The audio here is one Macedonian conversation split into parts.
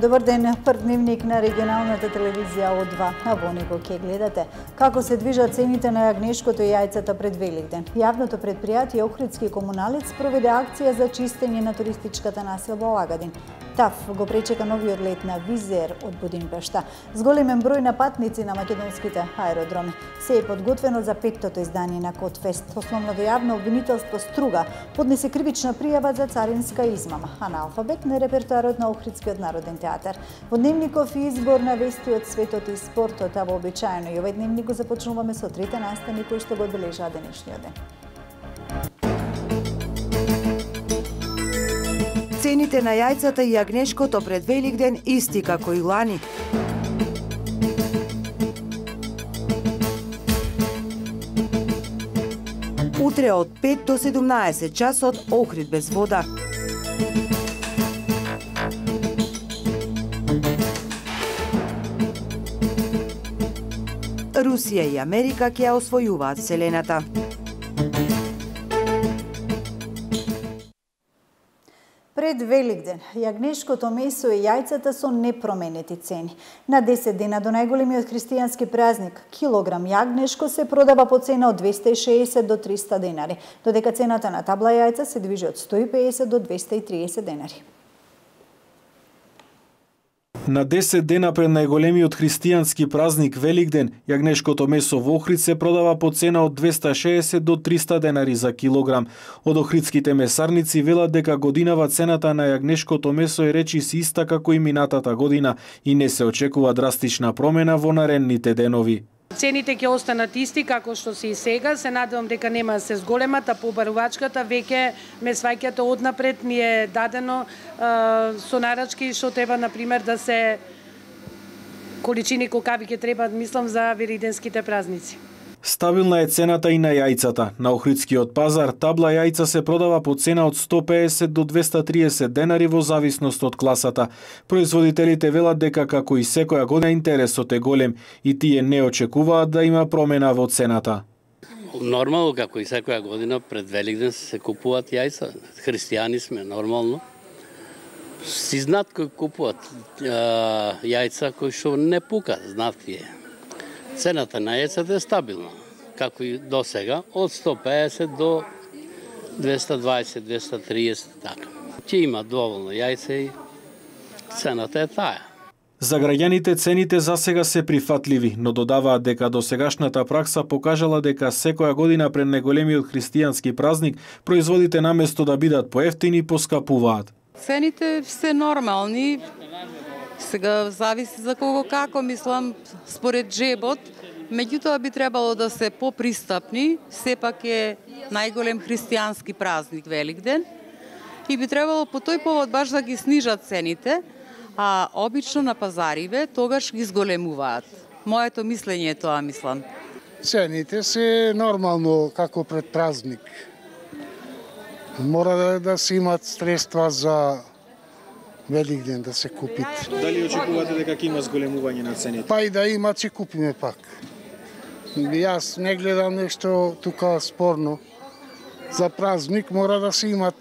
Добар ден, прв дневник на регионалната телевизија О2. А во него ќе гледате како се движат цените на јагнешкото и јајцата пред Великден. Јавното предпријатие Охридски комуналец проведе акција за чистење на туристичката населба Лагадин. ТАФ го пречека новиот лет на Визер од Будимпешта. С големен број на патници на македонските аеродроми. Се е подготвено за петтото издание на Котфест. Основното јавно обвинителство Струга поднесе кривична пријава за царинска измама, а на Алфабет на репертоарот на Охридскиот народен театар. Во дневников и избор на вести од светот и спортот, а вообичаено и овој дневник го започнуваме со трите настани кои што го одбележаа денешниот ден. Цените на јајцата и јагнешкото пред Великден исти како и лани. Утре од 5 до 17 часот Охрид без вода. Русија и Америка ќе ја освојуваат вселената. Пред Великден, јагнешкото месо и јајцата со непроменети цени. На 10 дена до најголемиот христијански празник, килограм јагнешко се продава по цена од 260 до 300 денари, додека цената на табла јајца се движи од 150 до 230 денари. На 10 дена пред најголемиот христијански празник Великден, јагнешкото месо во Охрид се продава по цена од 260 до 300 денари за килограм. Од охридските месарници велат дека годинава цената на јагнешкото месо е речиси иста како и минатата година и не се очекува драстична промена во наредните денови. Цените ќе останат исти како што се и сега. Се надевам дека нема да се зголемат, а побарувачката веќе ме сваќате однапред ми е дадено со нарачки што треба, например, да се количини кокави ќе треба, мислам, за великденските празници. Стабилна е цената и на јајцата. На Охридскиот пазар табла јајца се продава по цена од 150 до 230 денари во зависност од класата. Производителите велат дека како и секоја година интересот е голем и тие не очекуваат да има промена во цената. Нормално, како и секоја година пред Великден се купуваат јајца. Христијани сме, нормално. Си знаат кои купуваат јајца кои што не пукат, знаат тие. Цената на јајцата е стабилна, како и до сега, од 150 до 220-230, така. Ќе има доволно јајца и цената е таа. За граѓаните цените за сега се прифатливи, но додаваат дека досегашната пракса покажала дека секоја година пред најголемиот христијански празник производите наместо да бидат поевтини поскапуваат. Цените се нормални. Сега зависи за кого како, мислам, според джебот. Меѓутоа би требало да се попристапни, сепак е најголем христијански празник Великден и би требало по тој повод баш да ги снижат цените, а обично на пазариве тогаш ги зголемуваат. Моето мислење е тоа, мислам. Цените се нормално како пред празник. Мора да се имат средства за Великден да се купит. Дали очекувате дека ќе има зголемување на цените? Па и да има, ќе купиме пак. Јас не гледам нешто тука спорно. За празник мора да се имат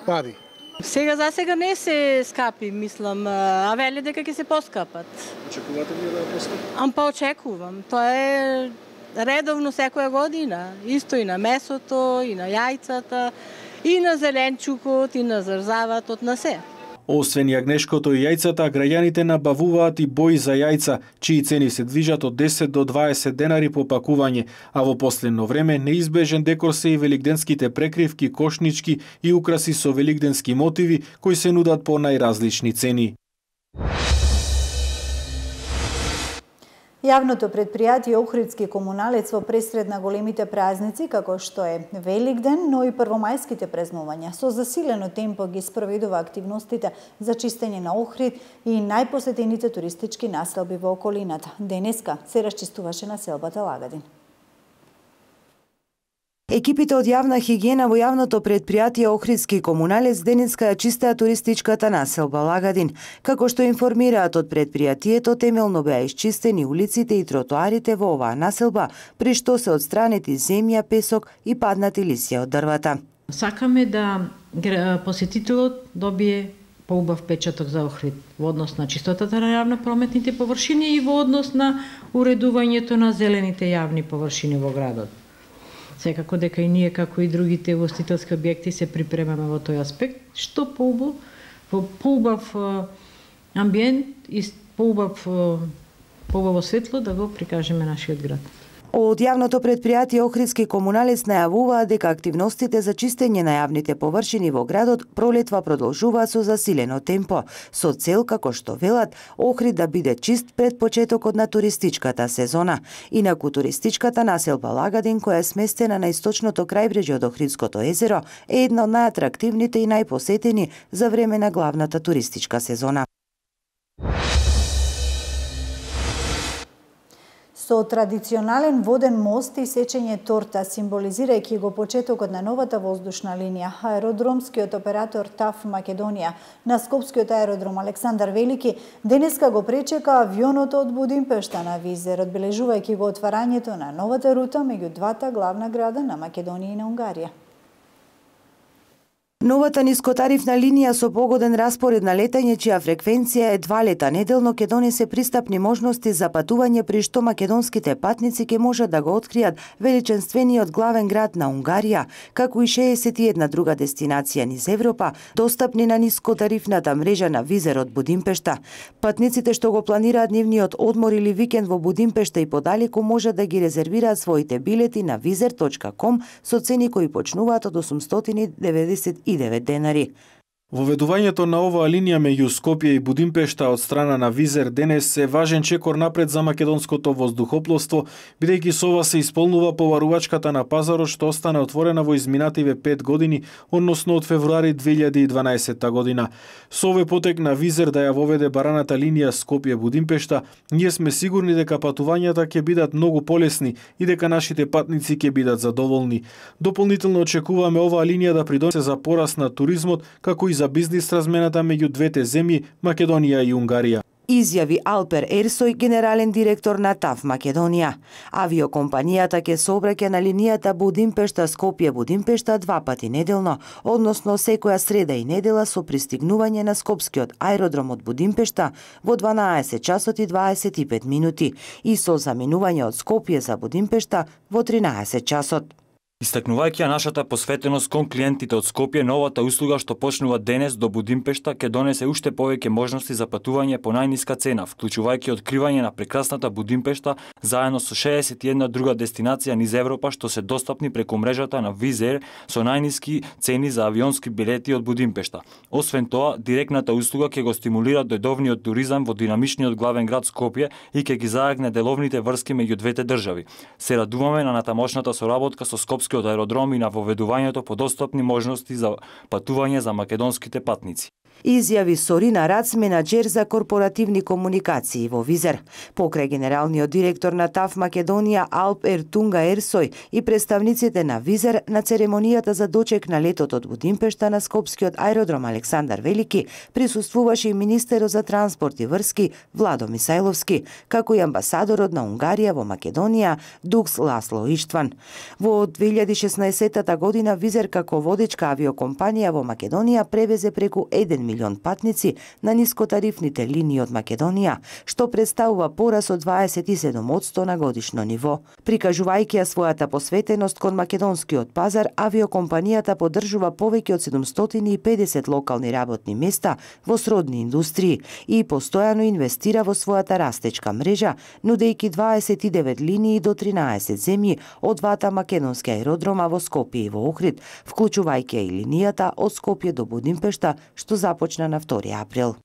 пари. Сега за сега не се скапи, мислам, а вели дека ќе се поскапат. Очекувате ли да поскапат? Па очекувам. Тоа е редовно секоја година. Исто и на месото, и на јајцата, и на зеленчукот, и на зрзаватот, на се. Освен јагнешкото и јајцата, граѓаните набавуваат и бои за јајца, чии цени се движат од 10 до 20 денари по пакување, а во последно време неизбежен декор се и великденските прекривки, кошнички и украси со великденски мотиви кои се нудат по најразлични цени. Јавното предпријатие Охридски комуналец во пресред на големите празници, како што е Великден, но и првомајските празнувања, со засилено темпо ги спроведува активностите за чистење на Охрид и најпосетените туристички населби во околината. Денеска се расчистуваше населбата Лагадин. Екипите од јавна хигиена во јавното предпријатие Охридски комуналец денеска ја чистеа туристичката населба Лагадин. Како што информираат од предпријатието, темелно беа исчистени улиците и тротоарите во оваа населба, при што се отстранети земја, песок и паднати лисја од дрвата. Сакаме да посетителот добие поубав печаток за Охрид во однос на чистотата на јавно прометните површини и во однос на уредувањето на зелените јавни површини во градот. Секако дека и ние, како и другите ugostителски објекти, се припремаме во тој аспект, што поубав амбиент и поубаво светло да го прикажеме нашиот град. Од јавното предпријатие Охридски комуналец најавуваат дека активностите за чистење на јавните површини во градот пролетва продолжуваат со засилено темпо, со цел, како што велат, Охрид да биде чист пред почетокот на туристичката сезона. Инаку туристичката населба Лагадин, која е сместена на источното крајбрежје од Охридското езеро, е една од најатрактивните и најпосетени за време на главната туристичка сезона. Со традиционален воден мост и сечење торта, символизирајќи го почетокот на новата воздушна линија, аеродромскиот оператор ТАФ Македонија на Скопскиот аеродром Александар Велики денеска го пречека авионот од Будимпешта на Визер, одбележувајќи го отварањето на новата рута меѓу двата главна града на Македонија и на Унгарија. Новата нискотарифна линија со погоден распоред на летање, чија фреквенција е 2 лета неделно, ќе донесе пристапни можности за патување, при што македонските патници ќе можат да го откријат величенствениот главен град на Унгарија, како и 61 друга дестинација низ Европа, достапни на нискотарифната мрежа на Визер од Будимпешта. Патниците што го планираат нивниот одмор или викенд во Будимпешта и подалеку можат да ги резервираат своите билети на vizer.com со цени кои почнуваат од 899 денари. Воведувањето на оваа линија меѓу Скопје и Будимпешта од страна на Визер денес е важен чекор напред за македонското воздухопловство, бидејќи со ова се исполнува поварувачката на пазарот што остана отворена во изминативе 5 години, односно од февруари 2012 година. Со овој потек на Визер да ја воведе бараната линија Скопје-Будимпешта, ние сме сигурни дека патувањата ќе бидат многу полесни и дека нашите патници ќе бидат задоволни. Дополнително очекуваме оваа линија да придонесе за пораст на туризмот, како и за бизнис размената меѓу двете земји, Македонија и Унгарија. Изјави Алпер Ерсој, генерален директор на ТАФ Македонија. Авиокомпанијата ќе сообраќа на линијата Будимпешта-Скопје-Будимпешта 2 пати неделно, односно секоја среда и недела со пристигнување на Скопскиот аеродром од Будимпешта во 12 часот и 25 минути и со заминување од Скопје за Будимпешта во 13 часот. Истакнувајќи нашата посветеност кон клиентите од Скопје, новата услуга што почнува денес до Будимпешта ќе донесе уште повеќе можности за патување по најниска цена, вклучувајќи откривање на прекрасната Будимпешта заедно со 61 друга дестинација низ Европа што се достапни преку мрежата на Визер со најниски цени за авионски билети од Будимпешта. Освен тоа, директната услуга ќе го стимулира дојдовниот туризам во динамичниот главен град Скопје и ќе ги зајакне деловните врски меѓу двете држави. Се радуваме на натамошната соработка со Скопскиот аеродром и на воведувањето по достапни можности за патување за македонските патници. Изјави Сорина Рац, менаџер за корпоративни комуникации во Визер. Покрај генералниот директор на ТАФ Македонија Алп Ертунга Ерсој и представниците на Визер на церемонијата за дочек на летот од Будимпешта на Скопскиот аеродром Александар Велики присуствуваше и министерот за транспорт и врски Владо Мисајловски, како и амбасадорот на Унгарија во Македонија Дукс Ласло Иштван. Во 2016 година Визер како водечка авиокомпанија во Македонија превезе преку 1 милион патници на нискотарифните линии од Македонија, што представува порас од 27% на годишно ниво. Прикажувајќи ја својата посветеност кон македонскиот пазар, авиокомпанијата поддржува повеќе од 750 локални работни места во сродни индустрии и постојано инвестира во својата растечка мрежа, нудејќи 29 линии до 13 земји од двата македонски аеродрома во Скопје и во Охрид, вклучувајќи и линијата од Скопје до Будимпешта, што започна на 2 април.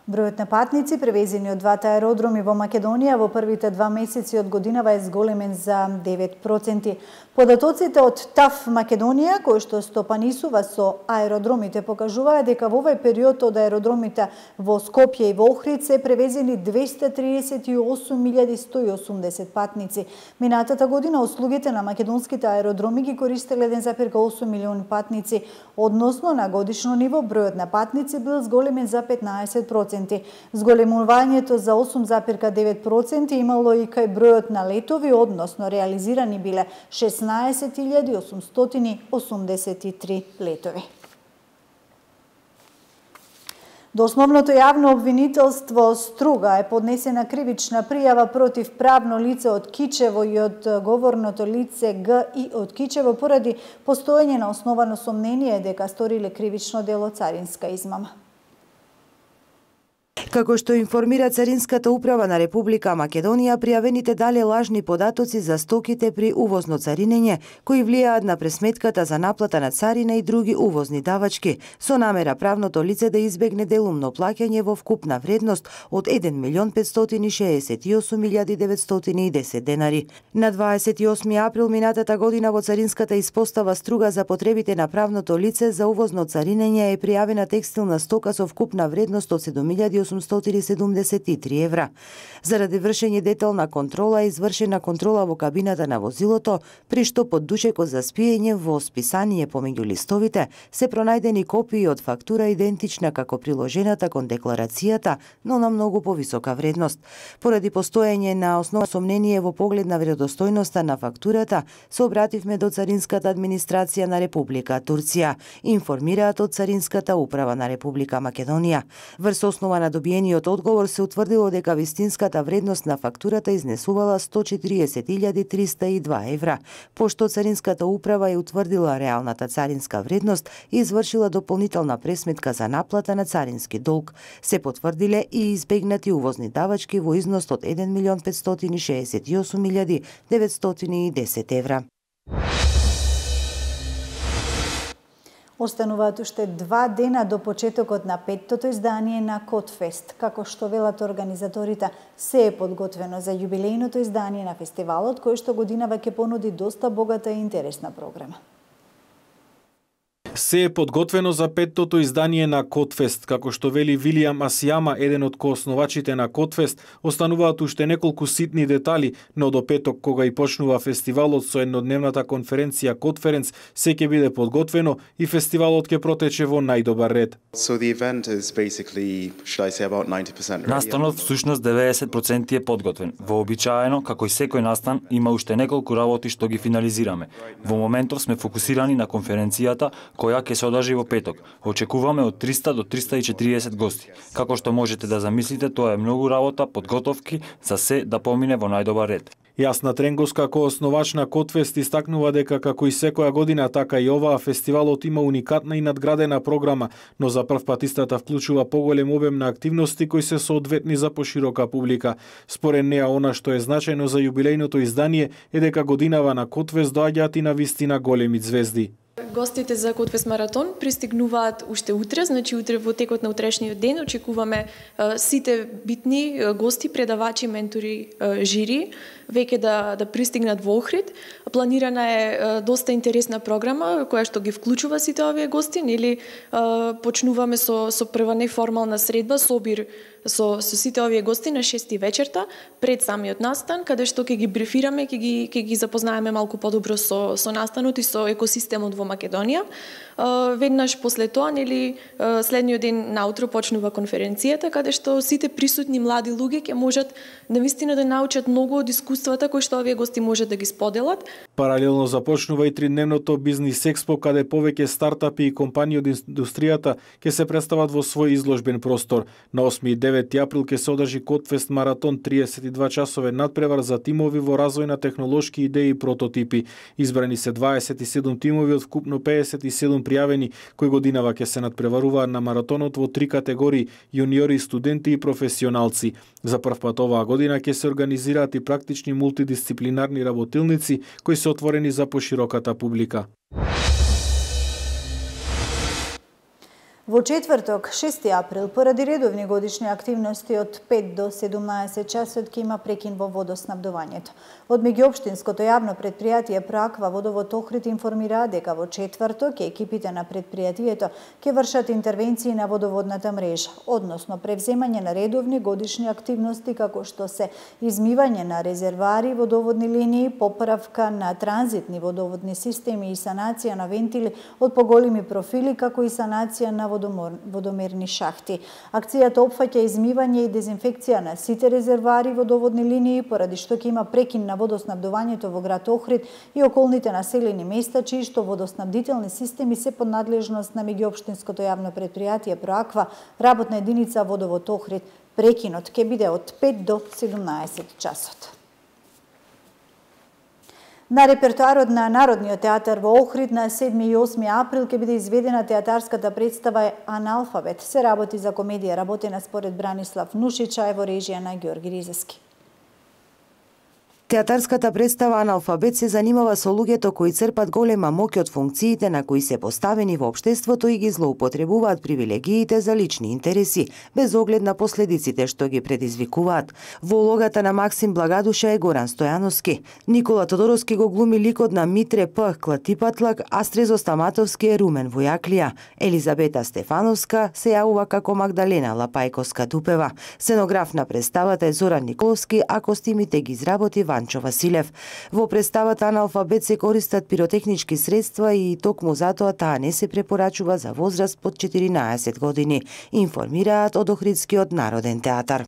Бројот на патници превезени од двата аеродроми во Македонија во првите 2 месеци од годинава е зголемен за 9%. Податоците од ТАФ Македонија, кои што стопанисува со аеродромите, покажуваат дека во овој период од аеродромите во Скопје и во Охрид се превезени 238.180 патници. Минатата година услугите на македонските аеродроми ги користеле 1,8 милион патници, односно на годишно ниво бројот на патници бил зголемен за 15%. 5,9%. Зголемувањето за 8,9% имало и кај бројот на летови, односно реализирани биле 16.883 летови. До основното јавно обвинителство Струга е поднесена кривична пријава против правно лице од Кичево и од говорното лице Г и од Кичево поради постоење на основано сомнение дека сториле кривично дело царинска измама. Како што информира Царинската управа на Република Македонија, пријавените дале лажни податоци за стоките при увозно царинење, кои влијаат на пресметката за наплата на царина и други увозни давачки, со намера правното лице да избегне делумно плаќање во вкупна вредност од 1.568.910 денари. На 28 април минатата година во Царинската испостава Струга за потребите на правното лице за увозно царинење е пријавена текстилна стока со вкупна вредност од 7.873 евра. Заради вршење детална контрола е извршена контрола во кабината на возилото, при што под душекот за спиење во списание помеѓу листовите се пронајдени копии од фактура идентична како приложената кон декларацијата, но на многу повисока вредност. Поради постоење на основно сомнение во поглед на веродостојноста на фактурата, се обративме до Царинската администрација на Република Турција, информираат од Царинската управа на Република Македонија. Врз основа на добиениот одговор се утврдило дека вистинската вредност на фактурата изнесувала 140.302 евра. Пошто Царинската управа е утврдила реалната царинска вредност и извршила дополнителна пресметка за наплата на царински долг, се потврдиле и избегнати увозни давачки во износ од 1.568.910 евра. Остануваат уште 2 дена до почетокот на 5-тото издание на Котфест. Како што велат организаторите, се е подготвено за јубилејното издание на фестивалот, кој што годинава ќе понуди доста богата и интересна програма. Се е подготвено за 5-тото издание на Котфест, како што вели Вилијам Асијама, еден од коосновачите на Котфест. Остануваат уште неколку ситни детали, но до петок, кога и почнува фестивалот со еднодневната конференција Котференц, се ќе биде подготвено и фестивалот ќе протече во најдобар ред. Настанот всушност 90% е подготвен. Вообичаено, како и секој настан, има уште неколку работи што ги финализираме. Во моментов сме фокусирани на конференцијата која ќе се одржи во петок. Очекуваме од 300 до 340 гости. Како што можете да замислите, тоа е многу работа, подготовки за се да помине во најдобар ред. Јасна Тренгос, како основач на Котфест, истакнува дека како и секоја година, така и оваа фестивалот има уникатна и надградена програма, но за прв пат истата вклучува поголем обем на активности кои се соодветни за поширока публика. Според неа, она што е значајно за јубилејното издание е дека годинава на Котфест доаѓаат и на вистина големи звезди. Гостите за Котфест маратон пристигнуваат уште утре, значи утре во текот на утрешниот ден очекуваме сите битни гости, предавачи, ментори, жири веќе да пристигнат во Охрид. Планирана е доста интересна програма која што ги вклучува сите овие гости, нели почнуваме со прва неформална средба, собир со сите овие гости на 6 вечерта пред самиот настан, каде што ќе ги брифираме, ќе ги запознаеме малку подобро со настанот и со екосистемот во Македонија. Веднаш после тоа, нели, следниот ден наутро почнува конференцијата, каде што сите присутни млади луѓе ќе можат навистина да научат многу од искуствата кои што овие гости можат да ги споделат. Паралелно започнува и 3-дневното бизнис експо, каде повеќе стартапи и компании од индустријата ќе се представат во свој изложбен простор. На 8 и 9 април ќе се одржи Котфест маратон, 32 часовен надпревар за тимови во развој на технолошки идеи и прототипи. Избрани се 27 тимови од вкупно 57 пријавени, кои годинава ќе се надпреваруваат на маратонот во 3 категории: јуниори, студенти и професионалци. За прв пат оваа година ќе се организираат и практични мултидисциплинарни работилници кои се отворени за пошироката публика. Во четврток, 6 април, поради редовни годишни активности од 5 до 17 часот ќе има прекин во водоснабдувањето. Од меѓуопштинското јавно предпријатие Проаква Водовод Охрид информира дека во четврток екипите на предпријатието ќе вршат интервенции на водоводната мрежа, односно превземање на редовни годишни активности како што се измивање на резервари, водоводни линии, поправка на транзитни водоводни системи и санација на вентили од поголеми профили, како и санација на водомерни шахти. Акцијата опфаќа измивање и дезинфекција на сите резервоари водоводни линии, поради што ќе има прекин на водоснабдувањето во град Охрид и околните населени места, чии што водоснабдителни системи се под надлежност на меѓуопштинското јавно предпријатие Проаква, работна единица Водовод Охрид. Прекинот ќе биде од 5 до 17 часот. На репертоарот на Народниот театар во Охрид на 7 и 8 април ќе биде изведена театарската представа Аналфабет. Се работи за комедија работена според Бранислав Нушича во режија на Ѓорги Ризески. Театарската представа Аналфабет се занимава со луѓето кои црпат голема моќ од функциите на кои се поставени во општеството и ги злоупотребуваат привилегиите за лични интереси, без оглед на последиците што ги предизвикуваат. Во улогата на Максим Благадуша е Горан Стојановски. Никола Тодоровски го глуми ликот на Митре П. Клатипатлак, а Стрезо Стаматовски е Румен Војаклија. Елизабета Стефановска се јавува како Магдалена Лапајковска-Дупева. Сценограф на представата е Зоран Николовски, а костимите ги изработи Ванчо Василев. Во представата Аналфабет се користат пиротехнички средства и токму затоа таа не се препорачува за возраст под 14 години, информираат од Охридскиот народен театар.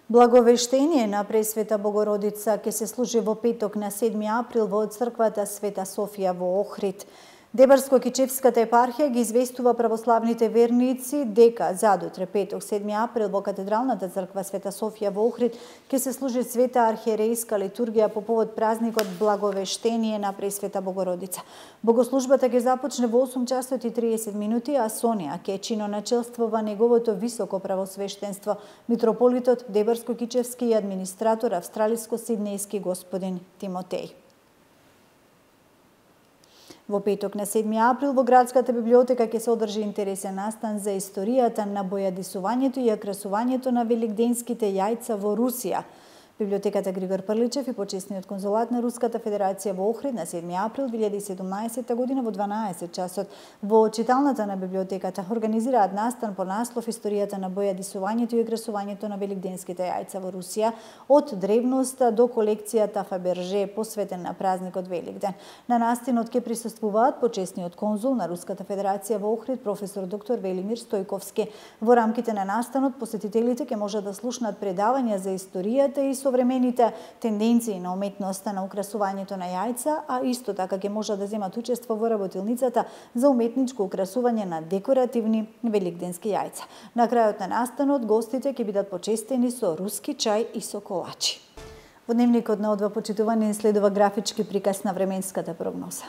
Благовештение на Пресвета Богородица ќе се служи во петок на 7 април во црквата Света Софија во Охрид. Дебарско-Кичевската епархија ги известува православните верници дека задутре петок 7 април во Катедралната црква Света Софија во Охрид ќе се служи света архиерејска литургија по повод празникот Благовештение на Пресвета Богородица. Богослужбата ќе започне во 8 часот и 30 минути, а со неа ќе чиноначелствува неговото високо правосвештенство митрополитот Дебарско-Кичевски и администратор австралиско-сиднејски господин Тимотеј. Во петок на 7 април во градската библиотека ќе се одржи интересен настан за историјата на бојадисувањето и ја красувањето на великденските јајца во Русија. Библиотеката Григор Прличев и почесниот конзулат на Руската Федерација во Охрид на 7 април 2017 година во 12 часот во читалната на библиотеката организираат настан по наслов Историјата на бојадисувањето и красувањето на великденските јајца во Русија од древноста до колекцијата Фаберже посветен на празникот Великден. На настанот ќе присуствуваат почесниот конзул на Руската Федерација во Охрид професор доктор Велимир Стојковски. Во рамките на настанот посетителите ќе можат да слушнат предавања за историјата и современите тенденции на уметноста на украсувањето на јајца, а исто така ќе можат да земат учество во работилницата за уметничко украсување на декоративни великденски јајца. На крајот на настанот гостите ќе бидат почестени со руски чај и со колачи. Во дневникот на О2 почитувани следува графички приказ на временската прогноза.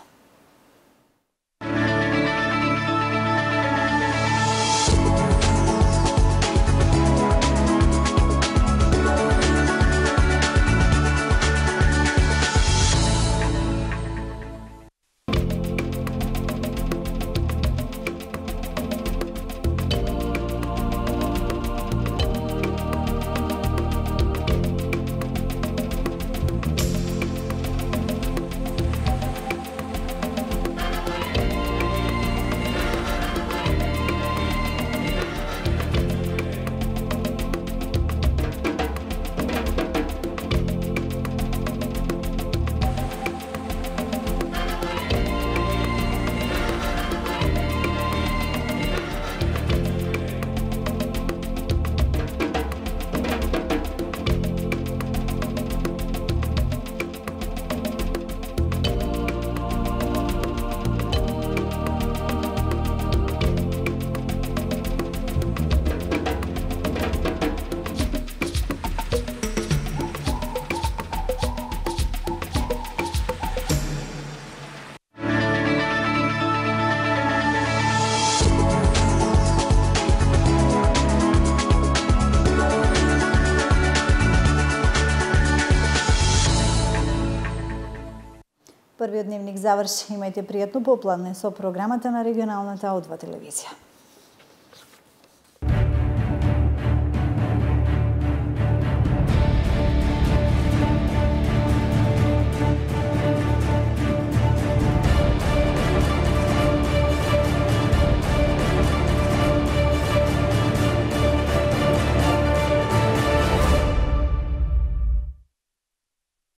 Првиот дневник заврши. Имајте пријатно попладне со програмата на регионалната О2 телевизија.